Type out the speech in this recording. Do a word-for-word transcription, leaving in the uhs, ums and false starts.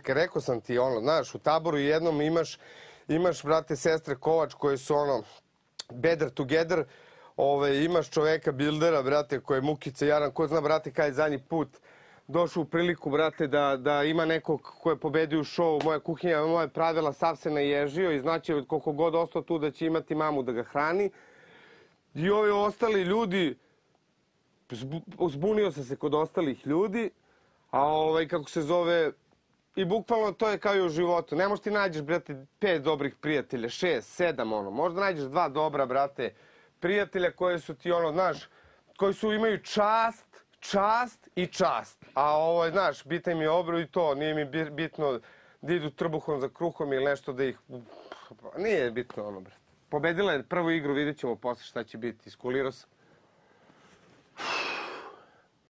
Rekao sam ti, ono, znaš, u Taboru jednom imaš, imaš, brate, sestre Kovač koje su, ono, better together, ove, imaš čoveka Bildera, brate, koje je Mukica Jaran, ko zna, brate, kada je zadnji put došao u priliku, brate, da, da ima nekog ko je pobedio u šovu, moja kuhinja, moje pravila, sav se naježio i znači koliko god ostao tu da će imati mamu da ga hrani. I ovi ostali ljudi, zbunio sam se kod ostalih ljudi, a ovaj, kako se zove, i bukvalno to je kao i u životu. Ne možeš ti nađeš, brate, pet dobrih prijatelja, šest, sedam, ono. Možda nađeš dva dobra, brate, prijatelja koji su ti, ono, znaš, koji su imaju čast, čast i čast. A ovo, znaš, bitan mi je obro i to, nije mi bitno da idu trbuhom za kruhom ili nešto da ih... Nije bitno, ono, brate. Pobedila je prvu igru, vidjet ćemo posle šta će biti. Iskulirao sam.